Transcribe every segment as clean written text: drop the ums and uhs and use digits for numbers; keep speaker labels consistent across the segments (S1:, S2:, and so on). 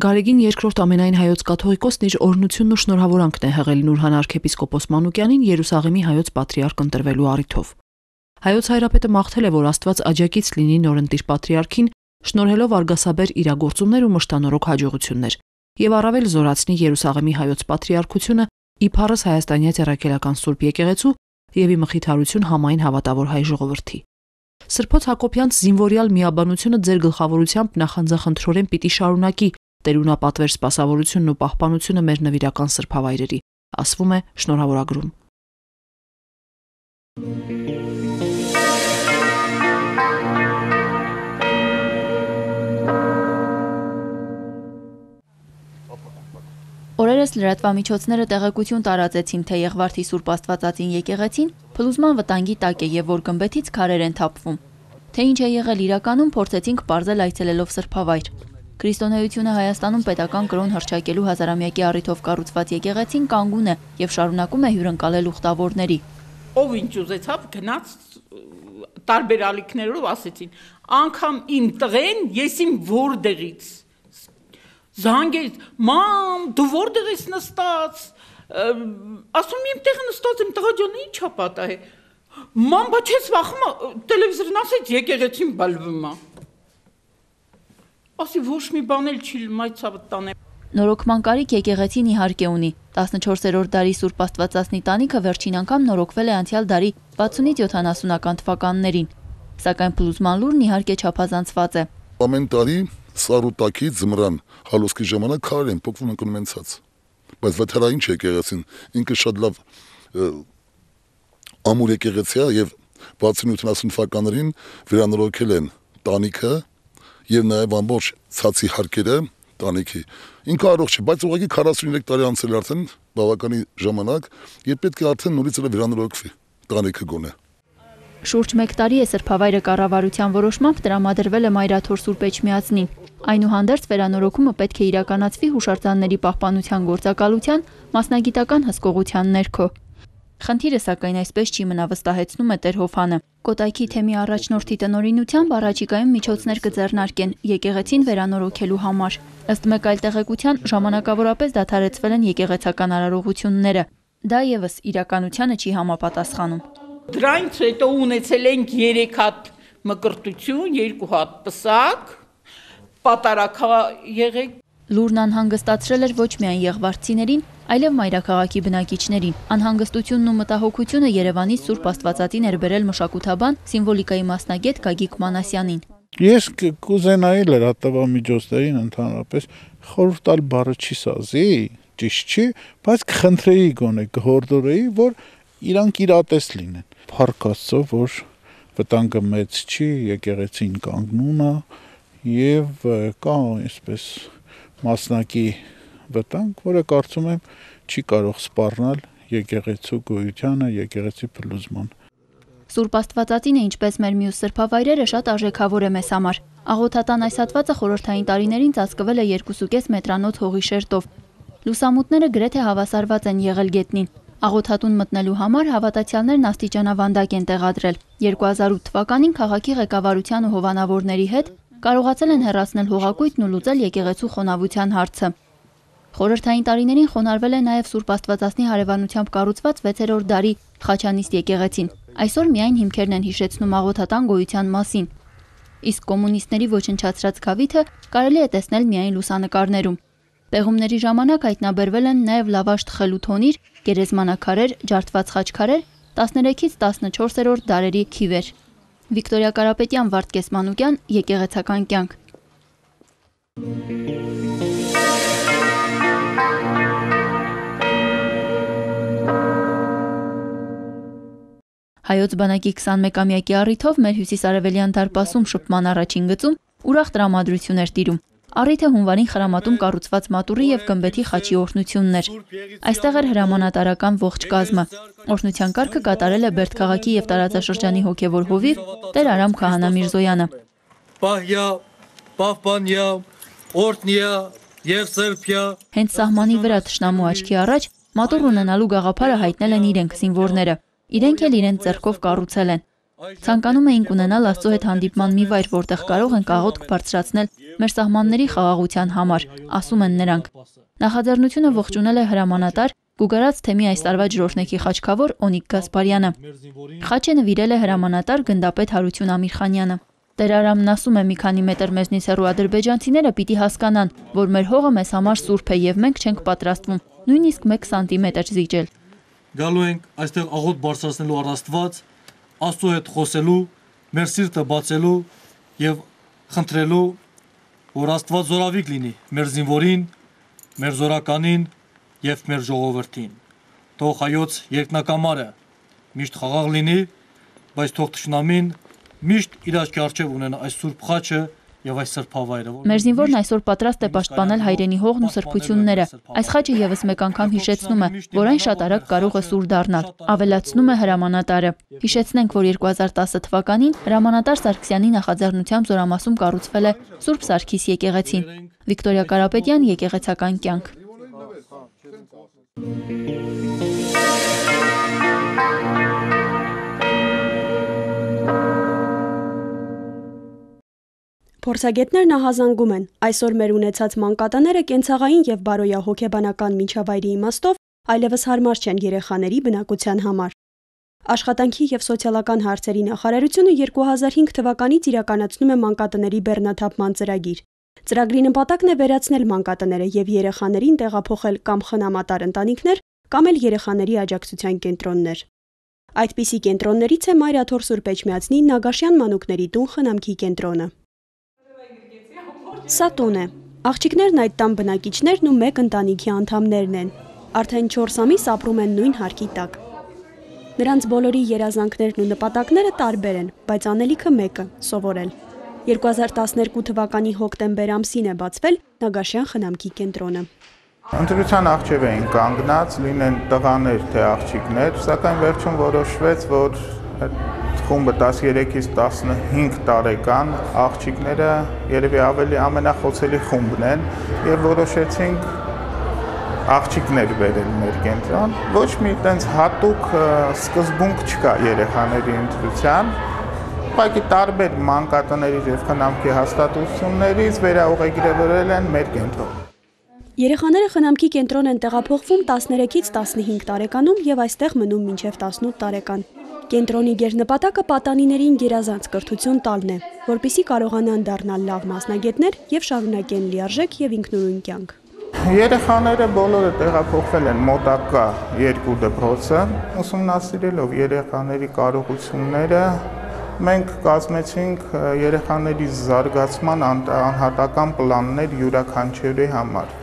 S1: Գարեգին երկրորդ ամենայն հայոց կաթողիկոսն իր օրհնությունն ու շնորհավորանքն է հղել Նուրհան arczepiskopos Մանուկյանին Երուսաղեմի հայոց պատրիարք ընտրվելու առիթով։ Հայոց հայրապետը մաղթել է, որ Աստված աջակից լինի նորընտիր պատրիարքին, շնորհելով արգասաբեր իրագործումներ ու մշտանորոք հաջողություններ, եւ առավել զորացնի Երուսաղեմի հայոց պատրիարքությունը իբարս հայաստանյա ցերակելական Սուրբ եկեղեցու եւ ի մխիթարություն համայն հավատավոր հայ ժողովրդի։ Սրբոց Հակոբյանց զինվորյալ միաբանությունը ձեր գլխավորությամբ նախանձախնդրորեն պիտի շարունակի տերունապատվեր սպասավորությունն ու պահպանությունը մեր նվիրական սրբավայրերի, ասվում է շնորհավորագրում։
S2: Օրերս լրատվամիջոցները տեղեկություն տարածեցին, թե Եղվարդի Սուրբ Աստվածածին եկեղեցին փլուզման վտանգի տակ է եւ որ գմբեթից քարեր են թափվում։ Թե ինչ է եղել իրականում, փորձեցինք պարզել այցելելով սրբավայր։ Քրիստոնեությունը Հայաստանում պետական կրոն հռչակելու հազարամյակի առիթով կառուցված եկեղեցին կանգուն է եւ շարունակում է հյուրընկալել ուխտավորների։
S3: Ով ինչ ուզեցավ գնաց տարբեր ալիքներով ասեցին, անգամ իմ տղեն, ես իմ որտեղից զանգեց, մամ, դու որտեղ ես նստած, ասում իմ տեղը նստած եմ, տղա ջան, ի՞նչ է պատահել։ Մամ, բայց ես վախում տելևիզորն ասեց եկեղեցին բալվում է։ Ասի ոչ մի բան էլ չի մայցավը տանեմ։
S2: Նորոգման կարիք եկեղեցին իհարկե ունի։ 14-րդ դարի Սուրբ Աստվածածնի տանիքը վերջին անգամ նորոգվել է անցյալ դարի 60-ից 70-ական թվականներին։ Սակայն փլուզման լուրն իհարկե չափազանցված է։
S4: Ամեն տարի սարուտակի ձմռան հալոսքի ժամանակ քարեր են փոխվում ընկնում են ցած։ Բայց վթարային եկեղեցին ինքը շատ լավ ամուր եկեղեցի է եւ 60-70 թվականներին վերանորոգել են տանիքը եւ նաեւ ամբողջ ցածի հարկերը տանիքի։ Ինքը առողջ է, բայց ուղղակի 43 տարի անցել արդեն բավականի ժամանակ եւ պետք է արդեն նորից վերանորոգվի տանիքը գոնե։
S2: Շուրջ 1 տարի է սրբավայրը կառավարության որոշմամբ տրամադրվել է Մայրաթոր Սուրբ Էջմիածնին։ Այնուհանդերձ վերանորոգումը պետք է իրականացվի հուշարձանների պահպանության գործակալության մասնագիտական հսկողության ներքո։ Խնդիրը սակայն այսպես չի մնա, վստահեցնում է Տեր Հովհանը։ Կոտայքի թեմի առաջնորդի տնօրինությամբ առաջիկայում միջոցներ կձեռնարկեն եկեղեցին վերանորոգելու համար։ Ըստ մեկ այլ տեղեկության ժամանակավորապես դադարեցվել են եկեղեցական արարողությունները։ Դա եւս իրականությանը չի համապատասխանում։
S3: Դրանից հետո ունեցել ենք 3 հատ մկրտություն, 2 հատ պսակ, պատարակա եղեք։
S2: Լուրն անհանգստացրել էր ոչ միայն եղվարդցիներին, այլև մայրաքաղաքի բնակիչներին։ Անհանգստությունն ու մտահոգությունը Երևանի Սուրբ Աստվածածի ներբերել մշակութաբան, սիմվոլիկայի մասնագետ Գագիկ Մանասյանին։
S5: Ես կուզենայի լրատվամիջոցներին ընդհանրապես խորհուրդ տալ բառը չի սազի, ճիշտ չի, բայց կխնդրեի գոնե կհորդորեի, որ իրանք իրատես լինեն։ Փառք Աստծո, որ վտանգը մեծ չի, եկեղեցին կանգնուն է եւ կա այսպես մասնակի վտանգ, որը կարծում եմ չի կարող սպառնալ եկեղեցու գոյությանը, եկեղեցի փլուզման։
S2: Սուրբ Աստվածածինը, ինչպես մեր մյուս սրբավայրերը, շատ արժեքավոր է մեզ համար։ Աղոթատան այս հատվածը խորհրդային տարիներին ծածկվել է 2.5 մետրանոց հողի շերտով։ Լուսամուտները գրեթե հավասարված են եղել գետնին։ Աղոթատուն մտնելու համար հավատացյալներն աստիճանավանդակ են տեղադրել։ 2008 թվականին քաղաքի ղեկավարության ու հովանավորների հետ կարողացել են հեռացնել հողակույտն ու լուծել եկեղեցու խոնավության հարցը։ Խորհրդային տարիներին խոնարհվել է նաև Սուրբ Աստվածածնի հարևանությամբ կառուցված 6-րդ դարի Խաչանիստ եկեղեցին։ Այսօր միայն հիմքերն են հիշեցնում աղոթատան գոյության մասին։ Իսկ կոմունիստների ոչնչացրած գավիթը կարելի է տեսնել միայն լուսանկարներում։ Պեղումների ժամանակ հայտնաբերվել են նաև լավաշ թխելու թոնիր, գերեզմանակարեր, ջարդված խաչքարեր, 13-ից 14-րդ դարերի քիվեր։ Վիկտորիա Կարապետյան, Վարդգես Մանուկյան, Եկեղեցական կյանք։ Հայոց բանակի 21-ամյակի առիթով մեր հյուսիսարևելյան դարպասում շփման առաջին գծում ուրախ տրամադրություն էր տիրում։ Առիթը հունվարին Խրամատում կառուցված մատուռի եւ գմբեթի խաչի օրհնությունն էր։ Այստեղ էր հրամանատարական ողջ կազմը։ Օրհնության կարգը կատարել է Բերդքաղաքի եւ տարածաշրջանի հոգեվոր հովիվ Տեր Արամ Քահանա Միրզոյանը։
S6: Պահյա, պահպանյա, օրհնյա եւ սրբյա։ Հենց
S2: սահմանի վրա թշնամու աչքի առաջ մատուռ ունենալու գաղափարը հայտնել են իրենք զինվորները։ Իրենք էլ իրենց ձեռքով կառուցել են։ Ցանկանում էինք ունենալ Աստծո հետ հանդիպման մի վայր, որտեղ կարող ենք աղոթք բարձրացնել մեր սահմանների խաղաղության համար, ասում են նրանք։ Նախաձեռնությունը ողջունել է հրամանատար Գուգարաց թեմի այս տարվա ջրօրհնեքի խաչքավոր Օնիկ Գասպարյանը։ Խաչը նվիրել է հրամանատար գնդապետ Հարություն Ամիրխանյանը։ Տեր Արամն ասում է՝ մի քանի մետր մեզնից հեռու ադրբեջանցիները պիտի հասկանան, որ մեր հողը մեզ համար սուրբ է եւ մենք չենք պատրաստվում նույնիսկ 1 սանտիմետր զիջել։
S6: Գալու ենք այստեղ աղոթք բարձրացնելու առ Աստված, Աստծո հետ խոսելու, մեր սիրտը բացելու եւ խնդրելու, որ Աստված զորավիք լինի մեր զինվորին, մեր զորականին եւ մեր ժողովրդին։ Թող հայոց երկնակամարը միշտ խաղաղ լինի, բայց թող թշնամին միշտ իր աչքի առջև ունենա այս սուրբ խաչը եւ այս սրբավայրը։
S2: Մեր զինվորն այսօր պատրաստ է պաշտպանել հայրենի հողն ու սրբությունները։ Այս խաչը եւս մեկ անգամ հիշեցնում է, որ այն շատ արագ կարող է սուր դառնալ, ավելացնում է հրամանատարը։ Հիշեցնենք, որ 2010 թվականին հրամանատար Սարգսյանի նախաձեռնությամբ Զորամասում կառուցվել է Սուրբ Սարգիս եկեղեցին։ Վիկտորիա Կարապետյան, Եկեղեցական կյանք։
S7: Փորձագետներն ահազանգում են, այսօր մեր ունեցած մանկատաները կենցաղային եւ բարոյահոգեբանական միջավայրի իմաստով այլևս հարմար չեն երեխաների բնակության համար։ Աշխատանքի եւ սոցիալական հարցերի նախարարությունը 2005 թվականից իրականացնում է մանկատների բեռնաթափման ծրագիր։ Ծրագրի նպատակն է վերացնել մանկատները եւ երեխաներին տեղափոխել կամ խնամատար ընտանիքներ, կամ էլ երեխաների աջակցության կենտրոններ։ Այդպիսի կենտրոններից է Մայրաթոր Սուրբ Էջմիածնի Նագաշյան մանուկների տուն խնամքի կենտրոնը։ Սա տուն է։ Աղջիկներն այդ տան բնակիչներն ու մեկ ընտանիքի անդամներն են։ Արդեն 4 ամիս ապրում են նույն հարկի տակ։ Նրանց բոլորի երազանքներն ու նպատակները տարբեր են, բայց անելիքը մեկը՝ սովորել։ 2012 թվականի հոկտեմբեր ամսին է բացվել Նագաշյան խնամքի կենտրոնը։
S5: Ընտրության առջև էին կանգնած, լինեն տղաներ թե աղջիկներ, սակայն վերջում որոշվեց, որ խումբը 13-ից 15 տարեկան աղջիկները երևի ավելի ամենախոցելի խումբն են եւ որոշեցինք աղջիկներ բերել մեր կենտրոն։ Ոչ մի տենց հատուկ սկզբունք չկա երեխաների ընտրության, ուղղակի տարբեր մանկատներից եւ խնամքի հաստատություններից վերաուղեկրվել են մեր կենտրոն։
S7: Երեխաները խնամքի կենտրոն են տեղափոխվում 13-ից 15 տարեկանում եւ այստեղ մնում մինչեւ 18 տարեկան։ Կենտրոնի գերնպատակը պատանիներին գերազանց կրթություն տալն է, որպեսզի կարողանան դառնալ լավ մասնագետներ եւ շարունակեն լիարժեք եւ ինքնուրույն կյանք։
S5: Երեխաները բոլորը տեղափոխվել են մոտակա 2 դպրոցը, ուսումնասիրելով երեխաների կարողությունները մենք կազմեցինք երեխաների զարգացման անհատական պլաններ յուրաքանչյուրի համար,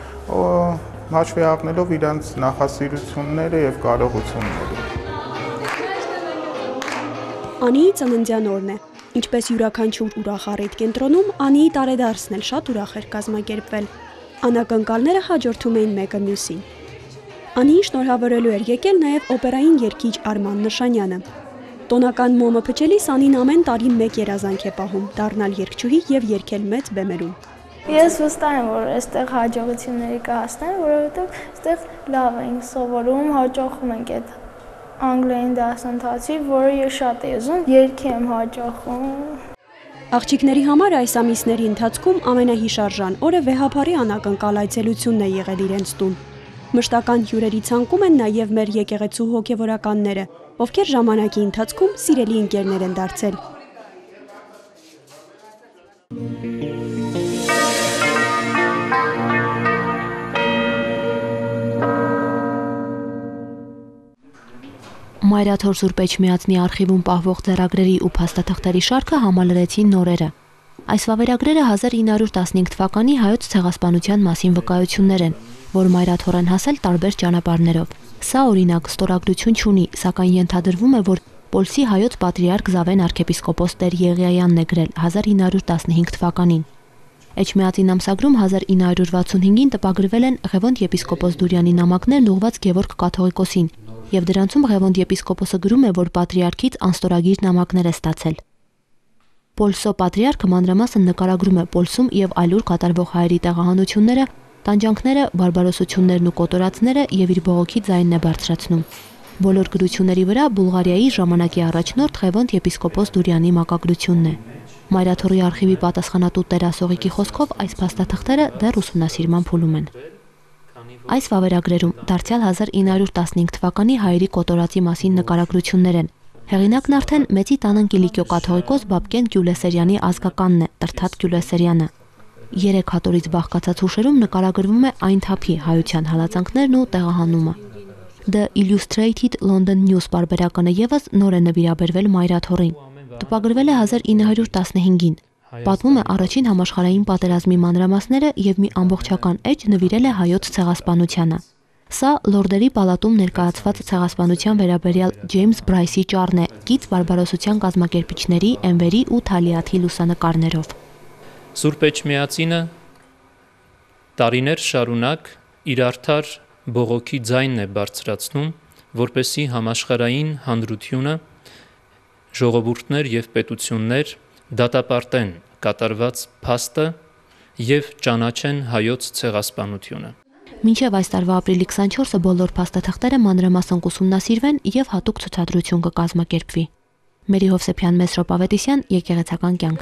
S5: հաշվի առնելով իրենց նախասիրությունները եւ կարողությունները։
S7: Անիի ծննդյան օրն է, ինչպես յուրաքանչյուր ուրախ առիթ կենտրոնում, Անիի տարեդարձն էլ շատ ուրախ էր կազմակերպվել։ Անակնկալները հաջորդում էին մեկը մյուսին։ Անիին շնորհավորելու էր եկել նաև օպերային երգիչ Արման Նշանյանը։ Տոնական մոմը փչելիս Անին ամեն տարի մեկ երազանք է պահում՝ դառնալ երգչուհի եւ երգել մեծ բեմերում։
S8: Ես վստահ եմ, որ այստեղ հաջողությունների կհասնեն, որովհետեւ այստեղ լավ ենք սովորում, հաջողում ենք այդ անգլերեն դասընթացի, որը ես շատ եմ ուզում, երգեմ հաջողում։
S7: Աղջիկների համար այս ամիսների ընթացքում ամենահիշարժան օրը վեհափարի անակնկալ այցելությունն է եղել իրենց տուն։ Մշտական հյուրերի ցանկում են նաև մեր եկեղեցու հոգևորականները, ովքեր ժամանակի ընթացքում սիրելի ընկերներ են դարձել։
S1: Մայրաթոր Սուրբ Էջմիածնի արխիվում պահվող ձեռագրերի ու փաստաթղթերի շարքը համալրեցին նորերը։ Այս վավերագրերը 1915 թվականի հայոց ցեղասպանության մասին վկայություններ են, որ Մայրաթոր են հասել տարբեր ճանապարհներով։ Սա օրինակ ստորագրություն չունի, սակայն ենթադրվում է, որ Պոլսի հայոց պատրիարք Զավեն arczepiskopos Տեր Եղիայանն է գրել 1915 թվականին։
S2: Էջմիածին ամսագրում 1965-ին տպագրվել են Ղևոնդ եպիսկոպոս Դուրյանի նամակներն ուղղված Գևորգ կաթողիկոսին, եւ դրանցում Ղևոնդ եպիսկոպոսը գրում է, որ պատրիարքից անստորագիր նամակներ է ստացել։ Պոլսո պատրիարքը մանրամասն նկարագրում է Պոլսում եւ այլուր կատարվող հայերի տեղահանությունները, տանջանքները, բարբարոսություններն ու կոտորածները եւ իր բողոքի ձայնն է բարձրացնում։ Բոլոր գրությունների վրա Բուլղարիայի ժամանակի առաջնորդ Ղևոնդ եպիսկոպոս Դուրյանի մակագրությունն է։ Մայրաթորի արխիվի պատասխանատու Տերասողիկի խոսքով այս փաստաթղթերը դեռ ուսումնասիրման փուլում են։ Այս վավերագրերում դարձյալ 1915 թվականի հայերի կոտորածի մասին նկարագրություններ են։ Հեղինակն արդեն Մեծի տանն Կիլիկիո կաթողիկոս Բաբկեն Գյուլեսերյանի ազգականն է, Տրթատ Գյուլեսերյանը։ 3 հատորից բաղկացած հուշերում նկարագրվում է այն թափի հայության հալածանքներն ու տեղահանումը։ The Illustrated London News պարբերականը եւս նոր է նվիրաբերվել Մայրաթորին։ Տպագրվել է 1915-ին։ Պատմում է առաջին համաշխարհային պատերազմի մանրամասները եւ մի ամբողջական էջ նվիրել է հայոց ցեղասպանությանը։ Սա Լորդերի պալատում ներկայացված ցեղասպանության վերաբերյալ Ջեյմս Բրայսի ճառն է, գիծ բարբարոսության կազմակերպիչների Էնվերի ու Թալիաթի լուսանկարներով։
S9: Սուրբ Էջմիածինը տարիներ շարունակ իր արդար բողոքի ձայնն է բարձրացնում, որպեսզի համաշխարհային հանրությունը, ժողովուրդներ եւ պետություններ դատապարտեն կատարված փաստը եւ ճանաչեն հայոց ցեղասպանությունը։
S2: Մինչև այս տարվա ապրիլի 24-ը բոլոր փաստաթղթերը մանրամասն կուսումնասիրվեն եւ հատուկ ցուցադրություն կկազմակերպվի։ Մերի Հովսեփյան, Մեսրոպ Ավետիսյան, Եկեղեցական կյանք։